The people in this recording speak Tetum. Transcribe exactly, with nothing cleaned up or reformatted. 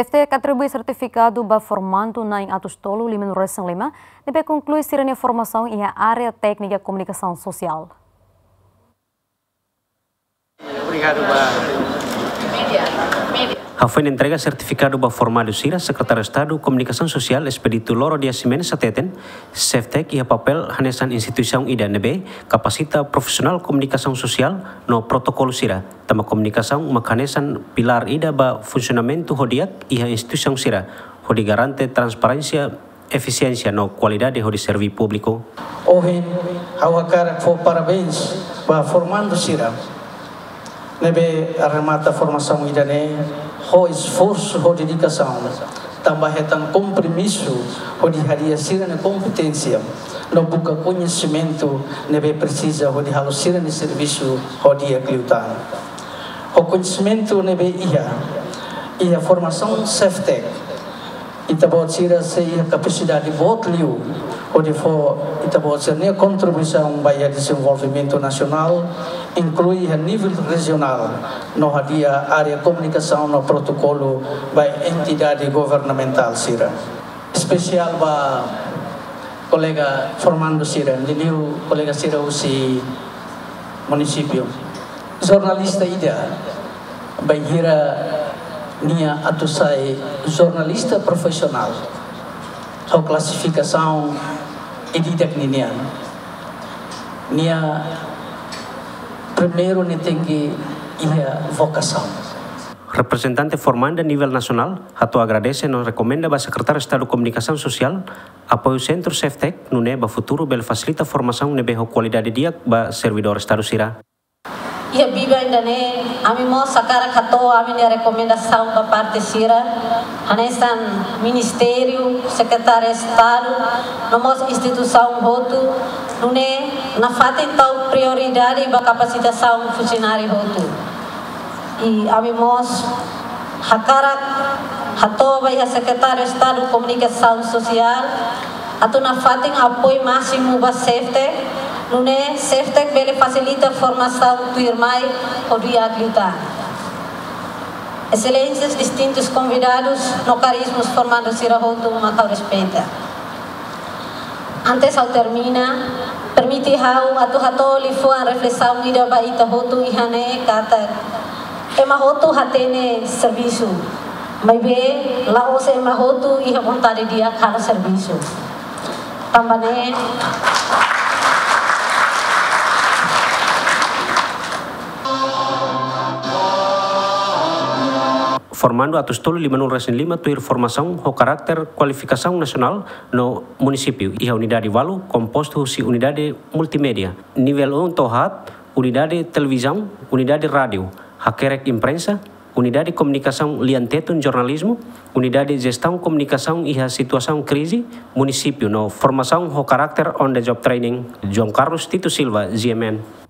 SEFTEC atribui sertifikadu ba formandu na'in atus tolu limanulu resin lima ne'ebé konklui sira-nia formasaun iha área téknika komunikasaun sosiál. Obrigadu ba. Hafoin entrega sertifikadu ba formandu sira, Sekretáriu Estadu Komunikasaun Sosiál Expedito Loro Dias Ximenes hateten, SEFTEC iha papél hanesan instituisaun ida ne'ebé kapasita profisionál komunikasaun sosiál no protokolu sira, tanba komunikasaun mak hanesan pilár ida ba funsionamentu ho di'ak iha instituisaun sira, hodi garante transparénsia, efisiénsia no kualidade hodi serví públiku. Ohin, ha'u hakarak fó parabéns ba formandu sira ne'ebé remata formasaun ida-ne'e ho esforsu ho dedikasaun, tanba hetan kompromisu hodi hadi'a sira-nia kompeténsia no buka koñesimentu ne'ebé presiza hodi halo sira-nia servisu ho di'ak liután. Ho koñesimentu ne'ebé iha, iha formasaun SEFTEC, ita-boot sira sei iha kapasidade boot liu hodi fó ita-boot sira-nia kontribuisaun ba iha dezenvolvimentu nasionál, inklui iha nivel rejionál, no hadi'a área komunikasaun no protokolu ba entidade governamentál sira. Espesiál ba kolega formandu sira, liuliu kolega sira husi munisípiu. Jornalista ida, bainhira nia atu sai jornalista profisionál, ho klasifikasaun ida-idak ninian, nia primeiru nia tenke iha vokasaun. Reprezentante formanda nivel nasionál hato'o agradese no rekomenda ba Sekretáriu Estadu Komunikasaun Sosiál apoiu Sentru SEFTEC, nune'e ba futuru bele fasilita formasaun ne'ebé ho kualidade di'ak ba servidór Estadu sira. Iha biban ida-ne'e, ami mós hakarak hato'o ami-nia rekomendasaun ba parte sira, hanesan Ministériu, Sekretáriu Estadu, no mós instituisaun hotu, nune'e nafatin tau prioridade ba kapasitasaun funsionáriu hotu. I ami mós hakarak hato'o ba iha Sekretáriu Estadu Komunikasaun Sosiál atu nafatin apoiu másimu ba SEFTEC, nune'e SEFTEC bele fasilita formasaun tuirmai ho di'ak liután. Exelénsias, distintus konvidadus no karísimos formandu sira hotu mak ha'u respeita. Antes ha'u termina, permite ha'u atu hato'o liafuan reflesaun ida ba ita hotu iha ne'e katak ema hotu hatene servisu, maibé la'ós ema hotu iha vontade di'ak halo servisu. Tanba ne'e, formandu atus tolu limanulu resin lima tuir formasaun ho karakter kualifikasaun nasionál no munisípiu iha unidade ualu, kompostu husi unidade multimédia nivel un to'o haat, unidade televizaun, unidade rádiu, hakerek imprensa, unidade komunikasaun lian tetun jornalizmu, unidade jestaun komunikasaun iha situasaun krize, munisípiu no formasaun ho karakter on the job training. João Carlos Tito Silva, G M N.